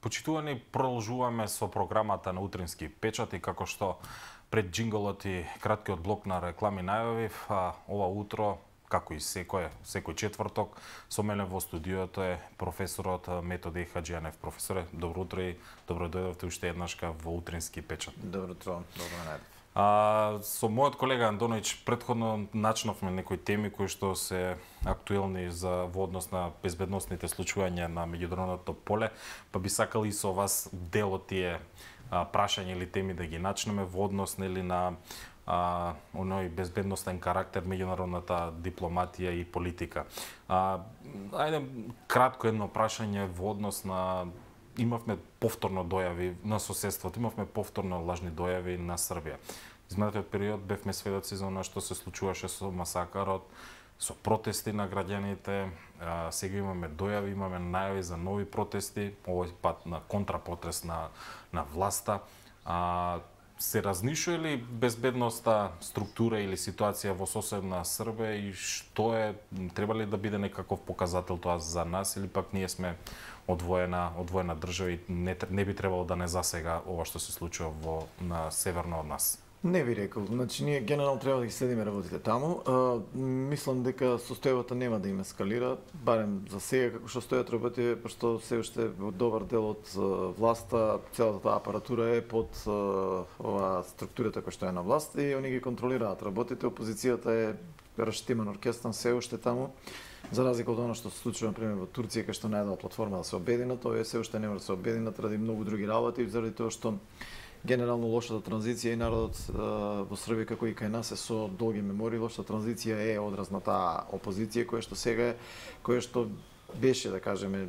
Почитувани, продолжуваме со програмата на Утрински печат и како што пред джинголот и краткиот блок на реклами најавив, ова утро, како и секој четврток, со мене во студиото е професорот Методи Хаџијанев. Професоре, добро утро и добро дојдовте уште еднашка во Утрински печат. Добро утро, добро најдов. Со мојот колега Андоновиќ претходно начнавме некои теми кои што се актуелни во однос на безбедносните случувања на меѓународното поле, па би сакал и со вас дел од тие прашања или теми да ги начнеме во однос на оној безбедносен карактер меѓународната дипломатија и политика. Ајде кратко едно прашање во однос на имавме повторно дојави на соседството, имавме повторно лажни дојави на Србија. Изминатиот период бевме сведоци за она што се случуваше со масакарот, со протести на граѓаните, сега имаме дојави, имаме најави за нови протести, овој пат на контрапотест на власта. Се разнишува ли безбедноста, структура или ситуација во соседна Србија и што треба ли да биде некаков показател тоа за нас или пак ние сме одвоена држава и не би требало да не засега ова што се случува на северно од нас? Не би рекол, значи ние генерално треба да ги следиме работите таму. Мислам дека состојбата нема да им ескалира, барем за сега како што стојат работите, пошто се уште добар дел од власта, целата таа апаратура е под ова структурата која што е на власт и они ги контролираат работите. Опозицијата е раштиман оркестар се уште таму. За разлика од она што се случува например во Турција, кај што најдова платформа да се обединат, овие се уште не може да се обединат ради многу други работи, заради тоа што генерално лошата транзиција и народот во Србија како и кај нас е со долги мемории. Лошата транзиција е одраз на таа опозиција која што сега која што беше, да кажеме,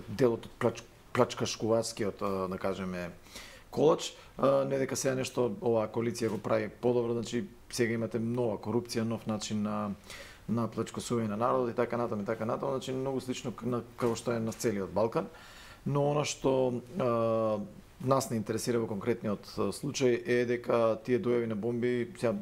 делот од плачкашкуварскиот, да кажеме, колач. Не дека сега нешто оваа коалиција го прави подобро, значи сега имате нова корупција, нов начин на плачкосување на народот и така натаму, значи многу слично како што е на целиот Балкан. Но она што нас не интересира во конкретниот случај е дека тие дојави на бомби, сега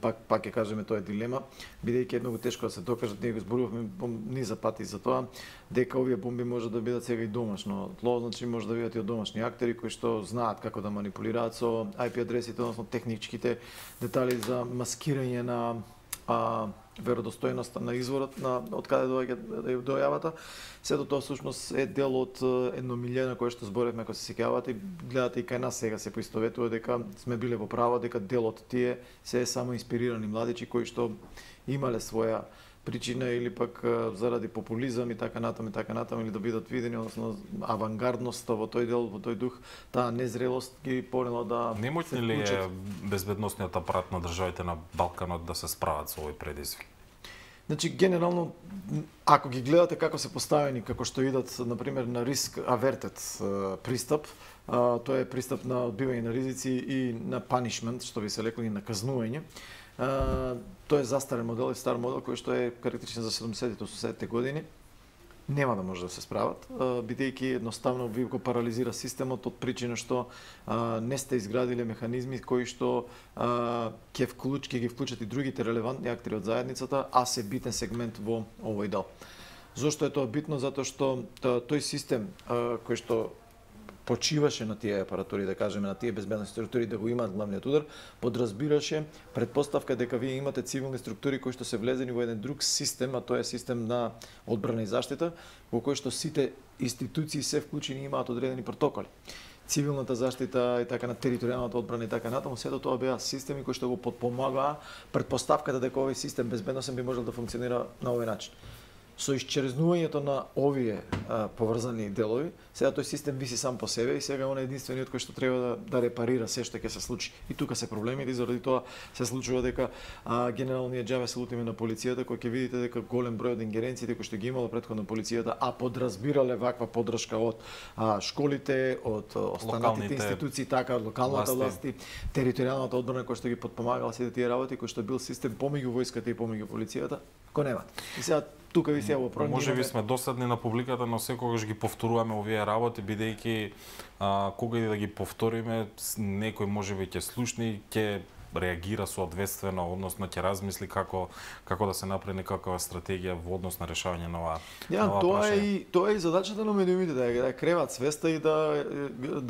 пак ќе кажеме тоа е дилема, бидејќи е многу тешко да се докажат, ние го зборувавме низа пати за тоа, дека овие бомби може да бидат сега и домашно тло, значи може да бидат и од домашни актери кои што знаат како да манипулираат со IP адресите, односно техничките детали за маскирање на веродостојноста на изворот од каде доаѓа дојавата. Сето тоа всушност е дел од едно милје на кое што зборевме, ако се сеќавате, гледате и кај нас сега се поистоветува дека сме биле во право, дека дел од тие се е само инспирирани младичи кои што имале своја причина или пак заради популизам и така натаму или да бидат видени, односно авангардноста во тој дел, во тој дух, таа незрелост ги понела да Немотни ли е безбедносниот апарат на државите на Балканот да се справат со овој предизвик? Значи, генерално, ако ги гледате како се поставени, како што идат, например, на риск авертед пристап, тоа е пристап на одбивање на ризици и на punishment, што би се лекло, и на казнување. Тоа е застарен модел и стар модел кој што е карактеристичен за 70-те, 80-те години. Нема да може да се справат, бидејќи едноставно ви го парализира системот од причина што не сте изградиле механизми кои што ќе ги вклучат и другите релевантни актери од заедницата, а се битен сегмент во овој дел. Зошто е тоа битно? Затоа што тој систем кој што почиваше на тие апаратури, да кажеме, на тие безбедносни структури да го имаат главниот удар, подразбираше предпоставка дека вие имате цивилни структури кои што се влезени во еден друг систем, а тоа е систем на одбрана и заштита, во кој што сите институции се вклучени и имаат одредени протоколи. Цивилната заштита и така на територијалната одбрана и така натаму, сето тоа беа системи кои што го потпомагаа претпоставката дека овој систем безбедносен би можел да функционира на овој начин. Со исчезнувањето на овие поврзани делови, сега тој систем виси сам по себе и сега он е единствениот кој што треба да репарира се што ќе се случи. И тука се проблемите, заради тоа се случува дека генерално ние џабе се лутиме на полицијата, кој ќе видите дека голем број од ингеренциите кои што ги имала претходно полицијата, а подразбирале ваква поддршка од школите, од останатите институции, така од локалната власти, територијалната одбрана која што ги потпомагала сите тие работи, кој што бил систем помеѓу војската и помеѓу полицијата, го немат. И сега тука ви се во проблем. Може би сме досадни на публиката, но секогаш ги повторуваме овие работи, бидејќи кога и да ги повториме, некој може би ќе слушне, ќе реагира соодветствено, односно ќе размисли како да се направи некаква стратегија во однос на решавање на ова. Тоа е и задачата на медиумите, да креват свеста и да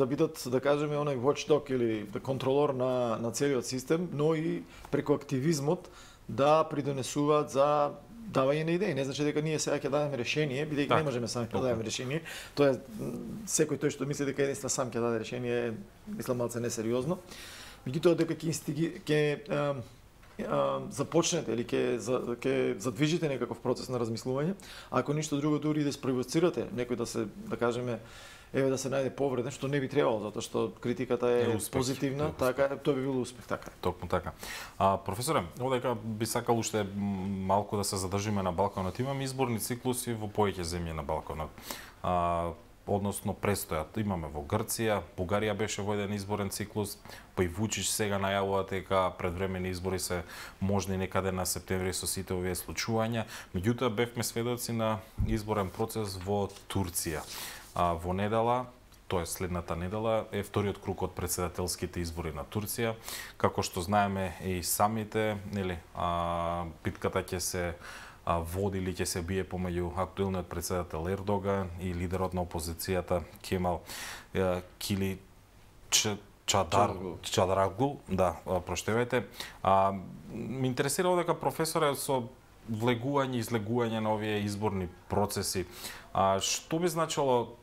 бидат, да кажеме, онај watchdog или контролор на целиот систем, но и преку активизмот да придонесуваат за давање на идеи. Не значи дека ние сега ќе дадеме решение, бидејќи не можеме сами да дадеме решение. Тоа е секој тој што мисли дека единствено сам ќе даде решение, мислам малце несериозно. Меѓутоа дека ќе започнете или ќе задвижите некаков процес на размислување, ако ништо друго дури да спровоцирате некој да кажеме да се најде повреден, што не би требало, затоа што критиката е позитивна, така тоа би било успех, така. Токму така. Професоре, одека би сакал уште малку да се задржиме на Балканот. Имаме изборни циклуси во повеќе земји на Балканот. Односно престојат. Имаме во Грција, Бугарија беше во еден изборен циклус, па и Вучич сега најавува дека предвремени избори се можни некаде на септември со сите овие случувања. Меѓутоа бевме сведоци на изборен процес во Турција. Во недела, тоа е следната недела, е вториот круг од претседателските избори на Турција. Како што знаеме и самите, битката ќе се води или ќе се бие помеѓу актуелниот претседател Ердоган и лидерот на опозицијата Кемал Киличдароглу. Да, проштевајте. Ме интересира дека професоре со влегување и излегување на овие изборни процеси, што би значило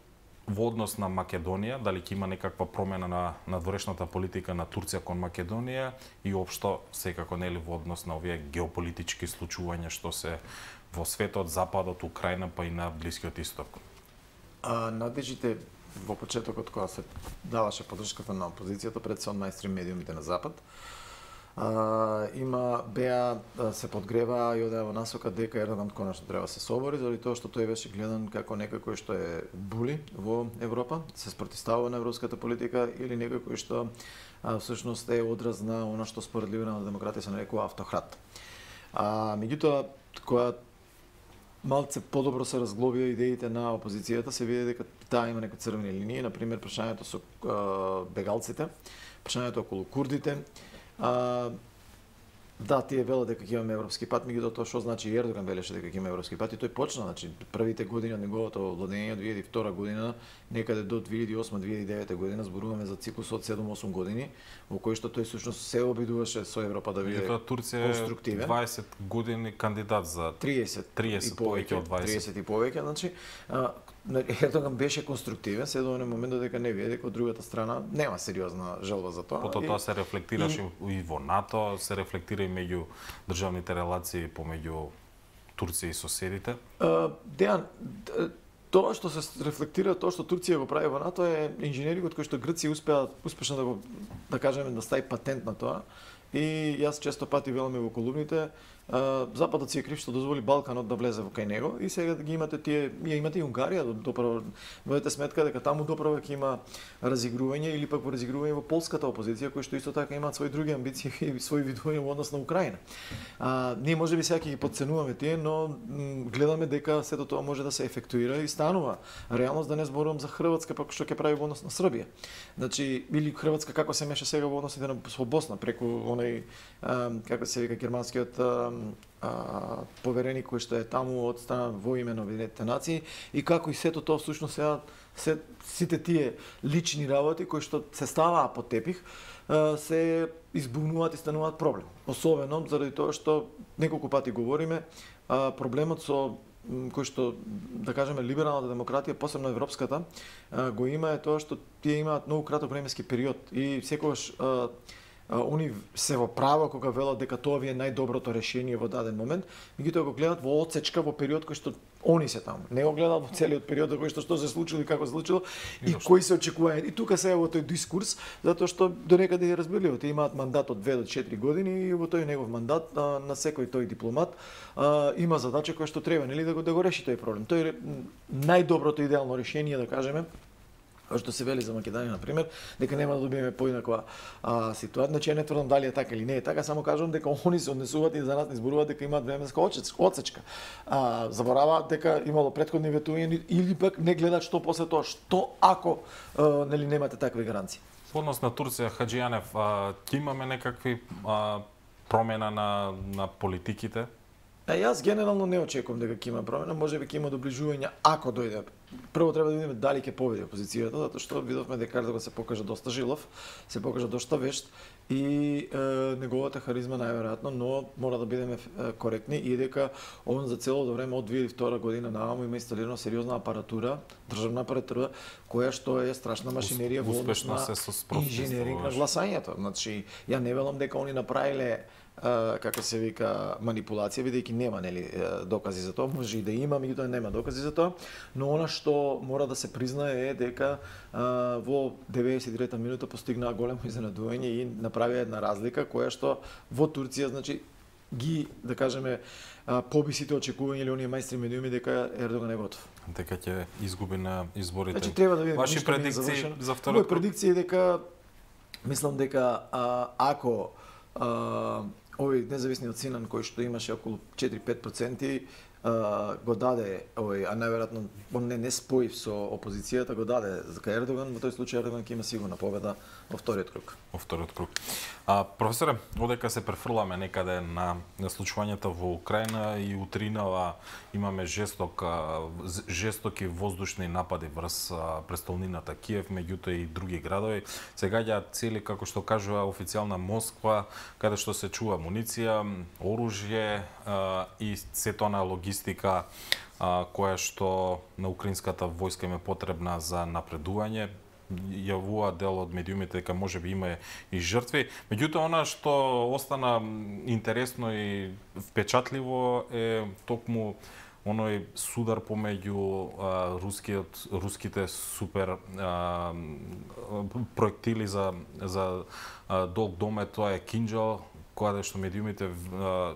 во однос на Македонија, дали ќе има некаква промена на надворешната политика на Турција кон Македонија и општо секако нели во однос на овие геополитички случувања што се во светот, западот, Украина па и на Блискиот Исток? Надежите во почетокот кога се даваше поддршката на опозицијата пред се од мајстрим медиумите на запад, се подгрева и одеа во насока дека Ердоган конечно треба да се собори, заради тоа што тој беше гледан како некој што е були во Европа, се спротивстава на европската политика или некој што всушност е одраз на она што според либерална демократија се нарекува автократ. Меѓутоа, кога малце подобро се разглобија идеите на опозицијата, се види дека таа има некои црвени линии, например прашањето со бегалците, прашањето околу курдите. Да, тие велат дека ќе имаме европски пат, меѓутоа тоа што значи Ердоган велеше дека ќе има европски пат и тој почна, значи првите години од неговото владење 2002 година, некаде до 2008-2009 година зборуваме за циклус од 7-8 години, во кој што тој всушност се обидуваше со Европа да биде конструктивен. Турција е 20 години кандидат за 30 повеќе од 20. 30 и повеќе, значи Ердоган беше конструктивен, се до момент дека не види дека од другата страна нема сериозна желба за тоа. Потоа тоа се рефлектираше и во НАТО, се рефлектира и меѓу државните релации помеѓу Турција и соседите. Дејан, тоа што се рефлектира, тоа што Турција го прави во НАТО е инженерингот кој што Грција успеа успешно да го, да кажеме, да стави патент на тоа. И јас често пати велам во колумните, Западот си е крив што дозволи Балканот да влезе во кај него и сега ги имате тие, имате и Унгарија, доправо водете сметка дека таму доправо ќе има разигрување или пак во разигрување во полската опозиција кои што исто така имаат свои други амбиции и свои видувања во однос на Украина. Ние можеби сега ќе ги подценуваме тие, но гледаме дека сето тоа може да се ефектуира и станува реалност, да не зборувам за Хрватска пак што ќе прави во однос на Србија. Значи или Хрватска како се меша сега во односите со Босна преку онај како се вика германскиот повереник кој што е таму од страна во име на Обединетите нации и како и сето тоа всушност сите тие лични работи кои што се ставаа под тепих се избунуваат и стануваат проблем. Особено заради тоа што неколку пати говориме проблемот со кој што, да кажеме, либералната демократија, посебно европската, го има е тоа што тие имаат многу краток временски период и секогаш они се во право кога велат дека тоа ви е најдоброто решение во даден момент, меѓутоа го гледат во одсечка во период кој што они се таму. Не го гледат во целиот период кој што се случило и како се случило и кои се очекува. И тука се е во тој дискурс, затоа што до некаде е разбирливо, тие имаат мандат од 2 до 4 години и во тој негов мандат на секој тој дипломат има задача која што треба, нели, да го реши тој проблем. Тој е најдоброто идеално решение, да кажеме, што се вели за Македонија, на пример, дека нема да добиеме поинаква ситуација. Значи, не тврдам дали е така или не е така, само кажувам дека они се однесуваат и за нас не зборуваат дека имаат временска одсечка. Забораваат дека имало претходни ветувања или пак не гледаат што после тоа, што ако нели немате такви гаранции. Во однос на Турција, Хаџијанев, ќе имаме некакви промена на политиките? Јас генерално не очекувам дека ќе има промена, можеби ќе има доближување ако дојде. Прво треба да видиме дали ќе победи опозицијата, затоа што видовме дека Ердоган се покажа доста жилов, се покажа доста вешт и неговата харизма најверојатно, но мора да бидеме коректни и дека он за целото време од 2002 година нааму има инсталирана сериозна апаратура, државна апаратура, која што е страшна машинерија во однос на инженеринг на гласањето. Значи, ја не велам дека они направиле како се вика манипулација, бидејќи нема докази за тоа, може и да има, меѓутоа нема докази за тоа, но она што мора да се признае е дека во 93-та минута постигнаа големо изненадување и направија една разлика која што во Турција, значи, ги, да кажеме, поби сите очекувања или оние мајстри медиуми дека Ердоган е готов. Дека ќе изгуби на изборите. Значи треба да видиме. Ваши предикции за второто? Мои предикции е дека мислам дека ако овој независниот Синан кој што имаше околу 4-5% го даде овој, а најверојатно он не споив со опозицијата, го даде за Ердоган, во тој случај Ердоган ќе има сигурна победа во вториот круг. Во вториот круг. Професоре, одека се префрламе некаде на случувањата во Украина и утринава имаме жестоки воздушни напади врз престолнината Киев, меѓутоа и други градови. Се гаѓаат цели, како што кажува официјална Москва, каде што се чува муниција, оружје и сето на логистика која што на украинската војска им е потребна за напредување. Јавува дел од медиумите дека можеби има и жртви. Меѓутоа, она што остана интересно и впечатливо е токму оној судар помеѓу руските супер проектили за долг домет, тоа е Кинџал, кога што медиумите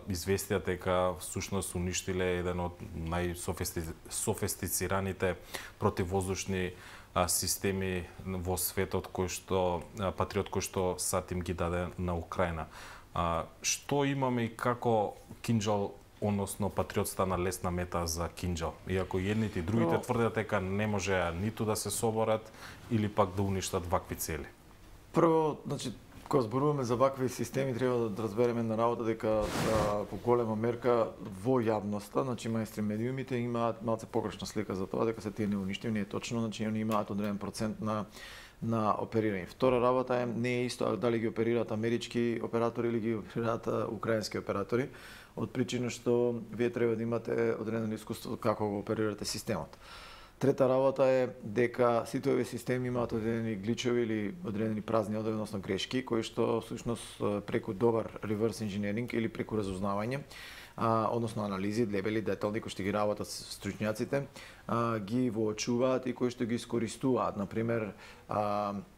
известија дека всушност уништиле еден од најсофистицираните противвоздушни системи во светот Патриот кој што САД им ги даде на Украина. Што имаме и како Кинџал, односно Патриот стана лесна мета за Кинџал? Иако едните и другите тврдат дека не можеа ниту да се соборат или пак да уништат вакви цели. Прво, значи, кога зборуваме за вакви системи, треба да разбереме на работа дека по голема мерка во јавноста, значи мајстри медиумите имаат малце погрешна слика за тоа дека се тие неуништиви, не е точно, значи они имаат одреден процент на оперирање. Втора работа е не е исто дали ги оперираат амерички оператори или ги оперираат украински оператори, од причина што вие треба да имате одредено искуство како го оперирате системот. Трета работа е дека сите овие системи имаат одредени гличови или одредени празни односно грешки, кои што всушност преку добар реверс инженеринг или преку разузнавање, односно анализи, лебели, детални кои што ги работат стручњаците, ги воочуваат и кои што ги искористуваат. Например,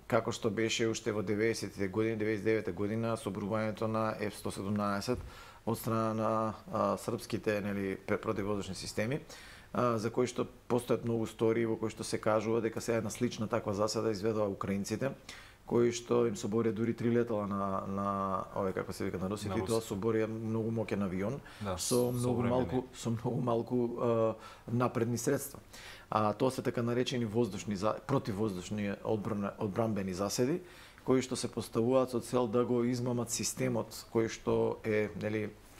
како што беше уште во 90-тите години, 99-та година, соборувањето на F-117 од страна на српските противвоздушни системи, за кои што постојат многу истории во кои што се кажува дека се една слична таква засада изведува украинците, кои што им соборија дури 3 летала на овој како се вика на русите, и тоа соборија многу моќен авион со многу малку напредни средства. Тоа се така наречени противвоздушни одбранбени заседи, кои што се поставуваат со цел да го измамат системот кој што е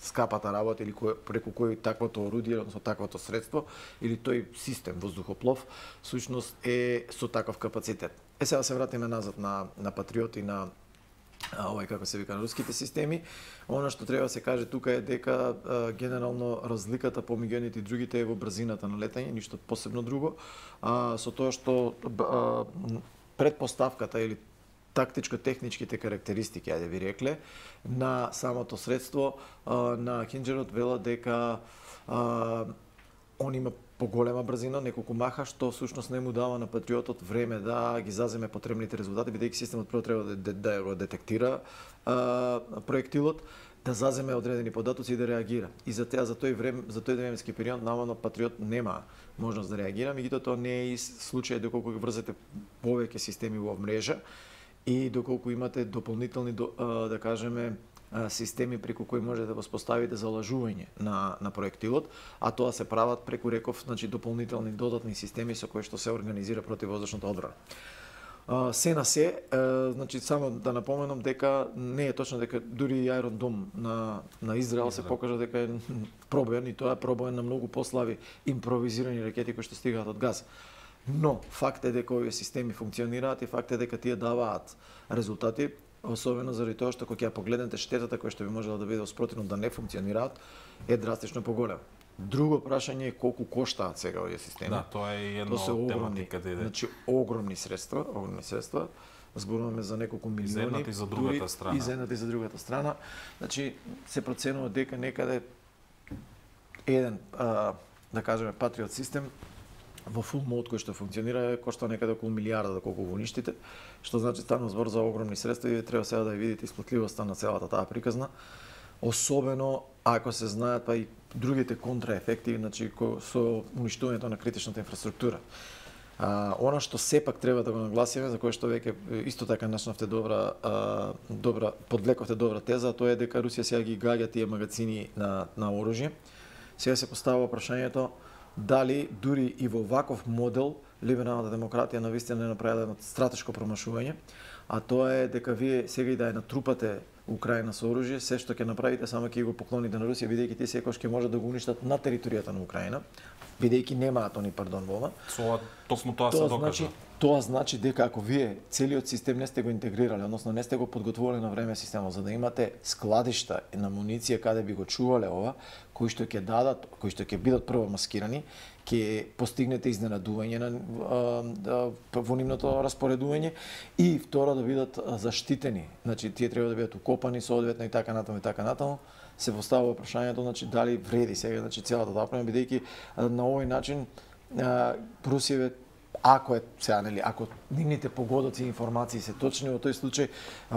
скапата работа или преку кој таквото орудие, односно таквото средство или тој систем воздухоплов всушност е со таков капацитет. Сега се вратиме назад на Патриот и на овој како се вика на руските системи. Она што треба да се каже тука е дека генерално разликата помеѓу едните и другите е во брзината на летање, ништо посебно друго. Со тоа што предпоставката или тактичко-техничките карактеристики, ајде ви рекле, на самото средство на Кинџалот велат дека он има поголема брзина, неколку маха, што всушност не му дава на Патриотот време да ги заземе потребните резултати, бидејќи системот прво треба да го детектира проектилот, да заземе одредени податоци и да реагира. И за тој временски период наводно Патриот нема можност да реагира, меѓутоа тоа не е случај доколку ги врзете повеќе системи во мрежа и доколку имате дополнителни, да кажеме, системи преку кои можете да воспоставите залажување на проектилот, а тоа се прават преку, реков, значи дополнителни додатни системи со кои што се организира противвоздушната одбрана. Се на се, значи само да напоменам дека не е точно дека дури и Iron Dome на Израел се покажа дека е пробоен, и тоа е пробоен на многу послаби импровизирани ракети кои што стигаат од Газа. Но факт е дека овие системи функционираат и факт е дека тие даваат резултати, особено заради тоа што кога ќе погледнете штетата која што би можела да биде спротивно да не функционираат, е драстично поголема. Друго прашање е колку коштаат сега овие системи. Да, тоа е една од тематиката. Значи огромни средства. Зборуваме за неколку милиони. За едната и за другата страна. И за едната и за другата страна. Значи се проценува дека некаде еден, да кажеме, Patriot систем во full mode кој што функционира кошта некаде околу милијарда да колку го уништите, што значи станува збор за огромни средства и треба сега да ја видите исплатливоста на целата таа приказна. Особено ако се знаат па и другите контраефекти, значи со уништувањето на критичната инфраструктура. Она што сепак треба да го нагласиме, за кое што веќе исто така начнавте подвлековте добра теза, тоа е дека Русија сега ги гаѓа тие магазини на оружје. Сега се поставува прашањето дали дури и во ваков модел либералната демократија навистина не направила едно стратешко промашување, а тоа е дека вие сега и да ја натрупате Украина со оружје, се што ќе направите само ќе го поклоните на Русија, бидејќи тие секогаш ќе можат да го уништат на територијата на Украина, бидејќи немаат они пардон во ова. Токму тоа се докажа. Тоа значи дека ако вие целиот систем не сте го интегрирале, односно не сте го подготвувале на време системот за да имате складишта на муниција каде би го чувале ова, кои што ќе дадат, кои што ќе бидат прво маскирани, ќе постигнете изненадување во нивното распоредување и второ да бидат заштитени. Значи тие треба да бидат укопани соодветно и така натаму. Се поставува прашањето, значи дали вреди сега, значи целата таа према, бидејќи на овој начин Русија, ако е сега нели, ако нивните погодоци и информации се точни, во тој случај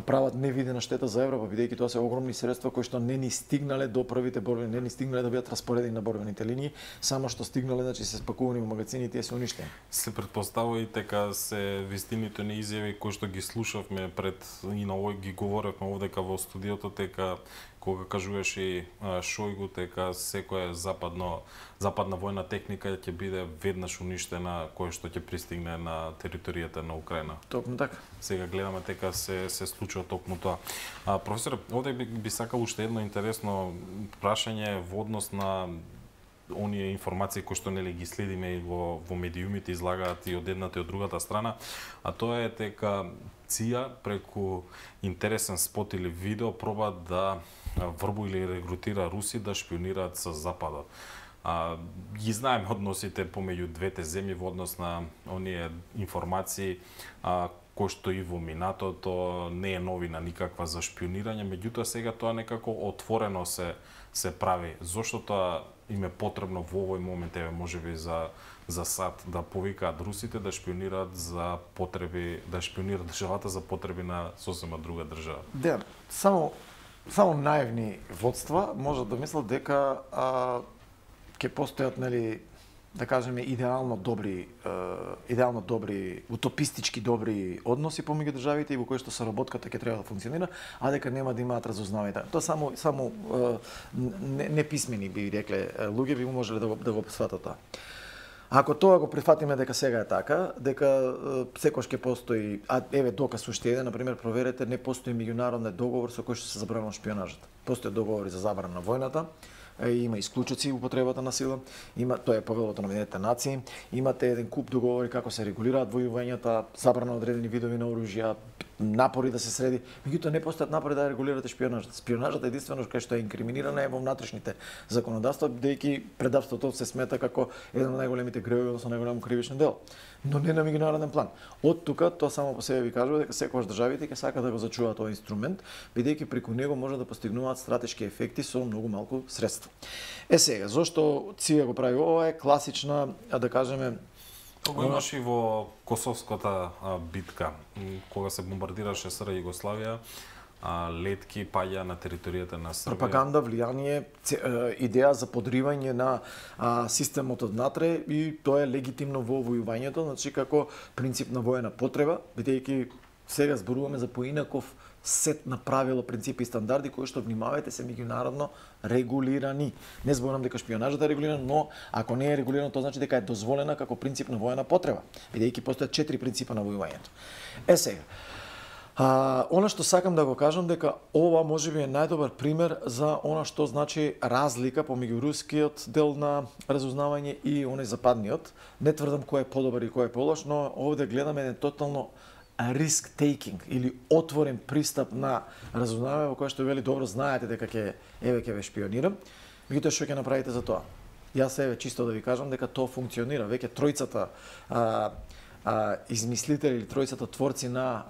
прават невидена штета за Европа, бидејќи тоа се огромни средства кои што не ни стигнале до првите борбени, не ни стигнале да бидат распоредени на борбените линии, само што стигнале, значи се спакувани во магазини и тие се уништени. Се претпоставува и дека се вистините на изјави кои што ги слушавме пред и на овој ги говоревме овдека во студиото, дека кога кажуваше Шојгу дека секоја западна војна техника ќе биде веднаш уништена која што ќе пристигне на територијата на Украина. Токму така. Сега гледаме дека се случува токму тоа. Професор, овде би сакал уште едно интересно прашање во однос на оние информации кои што нели ги следиме и во медиумите излагаат и од едната и од другата страна, а тоа е дека ЦИА преку интересен спот или видео проба да врбу или регрутира руси да шпионираат со Западот. Ги знаеме односите помеѓу двете земји во однос на оние информации кои што и во минатото не е новина никаква за шпионирање, меѓутоа сега тоа некако отворено се прави. Зошто тоа им е потребно во овој момент, можеби за САД да повикаат русите да шпионираат за потреби, да шпионираат државата за потреби на сосема друга држава? Да, само наивни водства можат да мислат дека ќе постојат, нели, да кажеме, идеално добри, утопистички добри односи помеѓу државите и во кои што соработката ќе треба да функционира, а дека нема да имаат разузнавање. Тоа само неписмени би рекле луѓе би можеле да го сватат тоа. Ако тоа го прифатиме дека сега е така, дека секој ќе постои, еве доказ уште еден, например, проверете, не постои меѓународен договор со кој што се забранува шпионажата. Постои договори за забрана на војната, има исклучоци употребата на сила, тоа е повелото на Обединетите нации, имате еден куп договори како се регулираат војувањата, забрана на одредени видови на оружја, напори да се среди, меѓутоа не постојат напори да регулирате шпионажата. Шпионажата единствено кај што е инкриминирана е во внатрешните законодавства, бидејќи предавството се смета како еден од најголемите гревови, односно најголемо кривично дело, но не на меѓународен план. Од тука тоа само по себе ви кажува дека секогаш државите ќе сакаат да го зачуваат овој инструмент, бидејќи преку него може да постигнуваат стратешки ефекти со многу малку средства. Сега, зошто ЦИА го прави ова е класична, да кажеме, Го имаш и во Косовската битка, кога се бомбардираше СР Југославија, летки паѓа на територијата на Србија. Пропаганда, влијание, идеја за подривање на системот однатре и тоа е легитимно во војувањето, значи како принцип на воена потреба, бидејќи сега зборуваме за поинаков сет на правила, принципи и стандарди кои што, внимавајте, се меѓународно регулирани. Не зборувам дека шпионажата е регулирана, но ако не е регулирано, тоа значи дека е дозволена како принцип на воена потреба, бидејќи постојат 4 принципа на војувањето. Сега, она што сакам да го кажам дека ова можеби е најдобар пример за она што значи разлика помеѓу рускиот дел на разузнавање и оној западниот. Не тврдам кој е подобар и кој е полош, но овде гледаме еден тотално risk-taking или отворен пристап на разузнавање во кој што вели добро знаете дека ќе ве шпионирам, меѓутоа што ќе направите за тоа? Јас чисто да ви кажам дека тоа функционира. Веќе тројцата измислители или тројцата творци на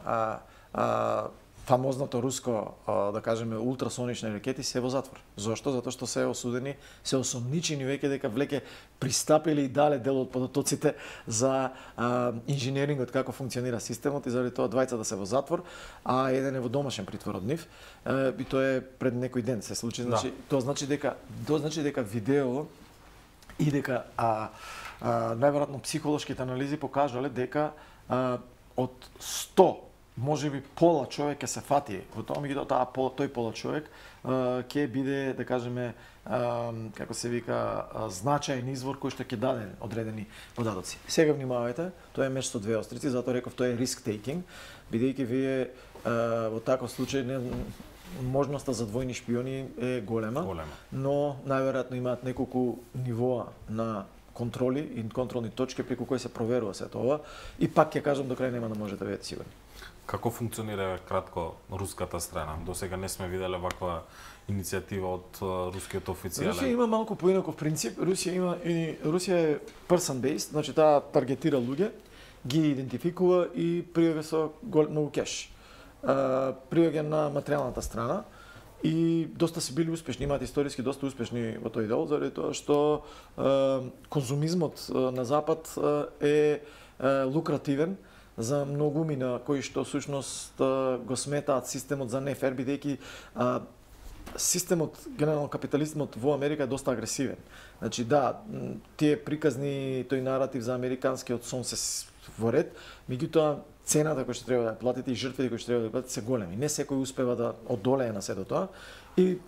фамозното руско, да кажеме, ултрасонични ракети се во затвор. Зошто? Затоа што се осудени, се осомничени веќе дека влеке пристапиле и дале дел од податоците за инженерингот, како функционира системот, и заради тоа двајцата се во затвор, а еден е во домашен притвор од нив. И тоа е пред некој ден се случи. Значи, тоа значи дека видео и дека најверојатно психолошките анализи покажале дека од 100 можеби пола човек ќе се фати во тоа, меѓутоа тој пола човек ќе биде, да кажеме, како се вика, значаен извор кој што ќе даде одредени податоци. Сега внимавајте, тоа е меч со две острици, затоа реков тоа е risk-taking, бидејќи вие во таков случај можноста за двојни шпиони е голема. Но најверојатно имаат неколку нивоа на контроли и контролни точки преку кои се проверува сето ова, и пак ќе кажам, до крај нема да можете да бидете сигурни. Како функционира кратко руската страна? До сега не сме виделе ваква иницијатива од рускиот официјален. Русија има малку поинаков принцип. Русија е person based, значи таа таргетира луѓе, ги идентификува и пријави со многу кеш. Пријаѓа на материјалната страна и доста се били успешни, имаат историски доста успешни во тој дел, заради тоа што конзумизмот на запад е лукративен за многумина кои што всушност го сметаат системот за нефер, бидејќи системот, генерално капитализмот во Америка е доста агресивен. Значи да, тие приказни, тој наратив за американскиот сон се во ред, меѓутоа цената која што треба да ја платите и жртвите кои што треба да ја платите се големи. Не секој успева да одолее на сето тоа и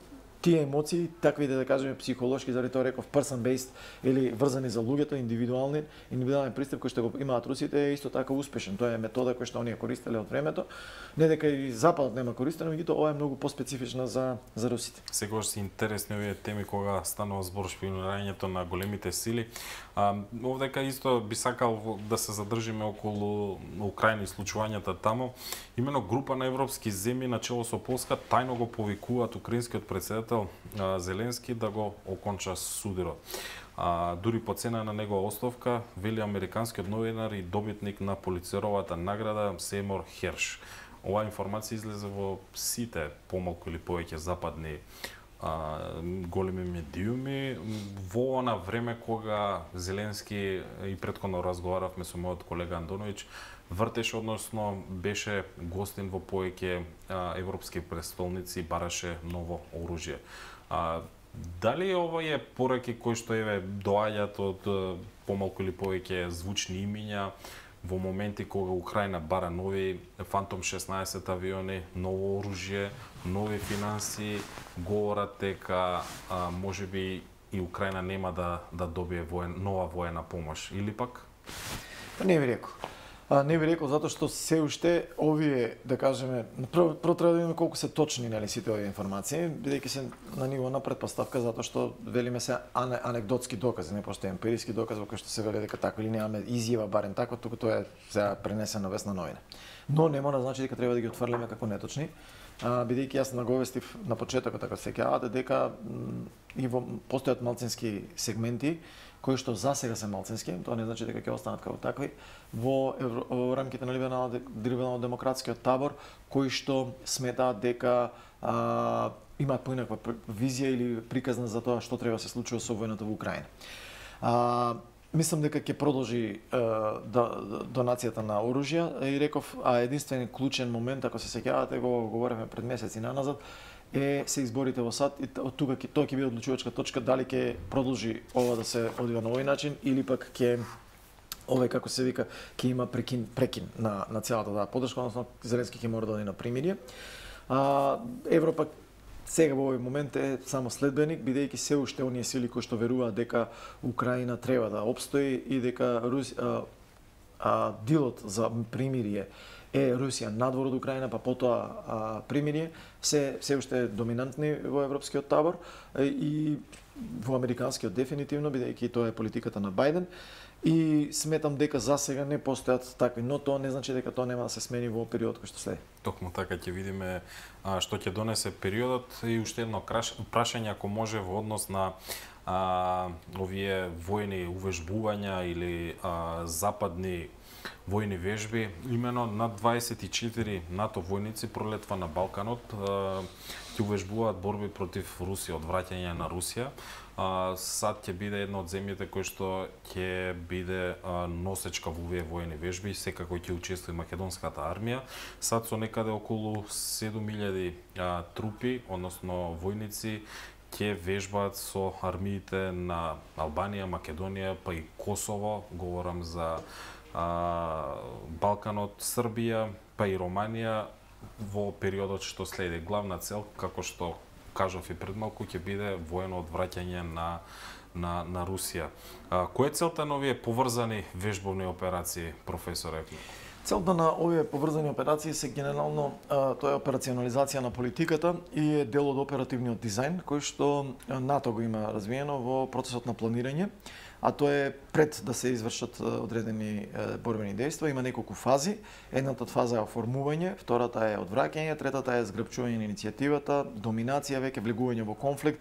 тие емоции, таквите, да кажеме, психолошки, заради тоа реков person based или врзани за луѓето, индивидуален пристап кој што го имаат русите е исто така успешен. Тоа е метода која што оние користеле од времето. Не дека и западот нема користено, меѓутоа ова е многу поспецифична за русите. Секогаш се интересни овие теми кога станува збор шпионирањето на големите сили. Овдека исто би сакал да се задржиме околу Украина и случувањата таму. Имено група на европски земји начело со Полска тајно го повикуваат украинскиот претседател Зеленски да го оконча судирот. Дури по цена на негова оставка, вели американскиот новинар и добитник на Пулицеровата награда Сеймур Херш. Оваа информација излезе во сите помалку или повеќе западни големи медиуми во она време кога Зеленски, и претходно разговаравме со мојот колега Андоновиќ, вртеше, односно беше гостин во повеќе европски престолници и бараше ново оружје. Дали овие пораки кои што доаѓаат од помалку или повеќе звучни имиња во моменти кога Украина бара нови Фантом 16 авиони, ново оружје, нови финанси, говорат дека можеби и Украина нема да добие нова воена помош, или пак? Не ви рекол. Не би рекол затоа што се уште овие, да кажеме, прво треба да видиме колку се точни, нели, сите овие информации, бидејќи се на ниво на претпоставка, затоа што велиме се анекдотски докази, не постои емпириски доказ во кој што се вели дека така или немаме изјава барем така, туку тоа е сега пренесено весна новина. Но не мора да значи дека треба да ги отфрлиме како неточни, бидејќи јас наговестив на почетокот, ако се сеќавате, дека и постојат малцински сегменти кои што за сега се малцински, тоа не значи дека ќе останат како такви, во рамките на либерално-демократскиот табор, кои што сметаат дека имаат поинаква визија или приказна за тоа што треба да се случува со војната во Украина. Мислам дека ќе продолжи донацијата на оружја и реков, единствен клучен момент, ако се сеќавате, го говоревме пред месеци наназад, се изборите во САД и од тука тоа ќе биде одлучувачка точка дали ќе продолжи ова да се одвива на овој начин или пак ќе овој како се вика ќе има прекин на целата таа поддршка, односно Зеленски ќе мора да оди на примирие. Европа сега во овој момент е само следбеник, бидејќи се уште оние сили кои што веруваат дека Украина треба да опстои и дека дилот за примирие е Русија надвор од Украина, па потоа примирие, се уште доминантни во европскиот табор и во американскиот дефинитивно, бидејќи тоа е политиката на Бајден. И сметам дека за сега не постојат такви, но тоа не значи дека тоа нема да се смени во периодот кој што следи. Токму така ќе видиме што ќе донесе периодот и уште едно прашање ако може во однос на овие војни увежбувања или западни војни вежби, имено над 24 НАТО војници пролетва на Балканот, ќе увежбуваат борби против Русија, одвраќање на Русија. САД ќе биде една од земјите кој што ќе биде носечка во овие војни вежби, секако ќе учествува и македонската армија. САД со некаде околу 7000 трупи, односно војници, ќе вежбаат со армиите на Албанија, Македонија, па и Косово, говорам за Балканот, Србија, па и Романија во периодот што следи. Главна цел, како што кажав и пред малку, ќе биде воено одвраќање на Русија. Која е целта на овие поврзани вежбовни операции, професоре? Целта на овие поврзани операции се генерално тоа е операционализација на политиката и е дел од оперативниот дизајн кој што НАТО го има развиено во процесот на планирање, а тоа е пред да се извршат одредени борбени дејства, има неколку фази. Едната фаза е оформување, втората е одвраќање, третата е згрбчување на иницијативата, доминација, веќе влегување во конфликт.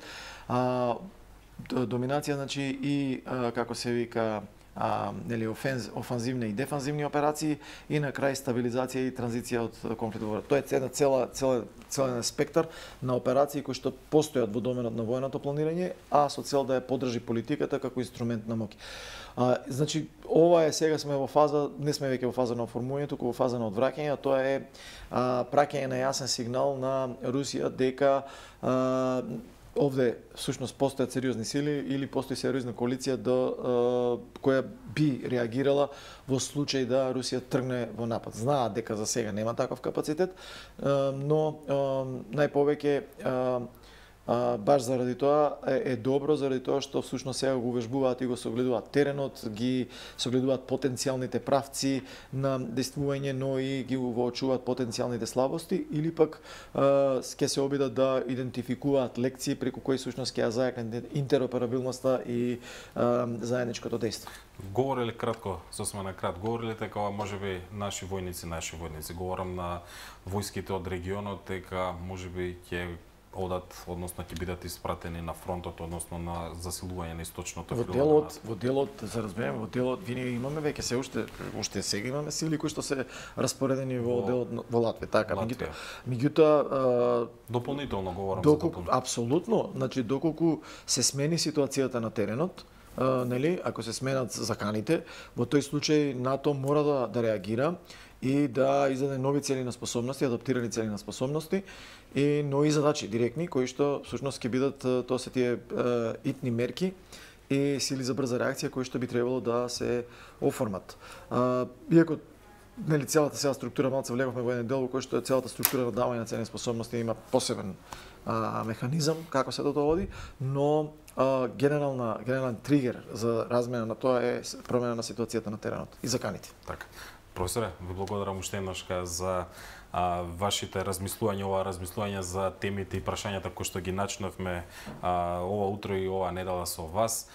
Доминација значи и како се вика офанзивни и дефанзивни операции и на крај стабилизација и транзиција од конфликтот. Тоа е една целен спектар на операции кои што постојат во доменот на војното планирање, а со цел да ја поддржи политиката како инструмент на моќ. Значи, ова е сега сме во фаза, не сме веќе во фаза на оформување, туку во фаза на одвраќање, тоа е праќање на јасен сигнал на Русија дека овде всушност постојат сериозни сили или постои сериозна коалиција која би реагирала во случај да Русија тргне во напад. Знаат дека за сега нема таков капацитет, но најповеќе баш заради тоа е добро, заради тоа што всушност сега го увежбуваат и го согледуваат теренот, ги согледуваат потенцијалните правци на действување, но и ги воочуваат потенцијалните слабости или пак ќе се обидат да идентификуваат лекции преку кои всушност ќе ја зајакнат интероперабилноста и заедничкото дејство. Говореле кратко, сосема на крат, говореле дека можеби наши војници, говорам на војските од регионот, дека можеби ќе одат, односно ќе бидат испратени на фронтот, односно на засилување на источното фрило. Во делот, за разбереме, во делот винаги имаме веќе се уште сега имаме сили кои што се распоредени во делот во Латвија, така, меѓутоа дополнително говорам за дополнително. Апсолутно, значи доколку се смени ситуацијата на теренот, нели, ако се сменат заканите, во тој случај НАТО мора да реагира и да издаде нови цели на способности, адаптирани цели на способности и нови задачи директни кои што всушност ќе бидат тоа се тие итни мерки и сили за брза реакција кои што би требало да се оформат. Иако нели целата сега структура, малце влеговме во еден дел во кој што е целата структура на давање на цели способности има посебен механизам како се тоа води, но генерален тригер за размена на тоа е промена на ситуацијата на теренот и заканите. Така. Професоре, ви благодарам уште еднашка за вашите размислувања за темите и прашањата кои што ги начнавме ова утро и ова недела со вас.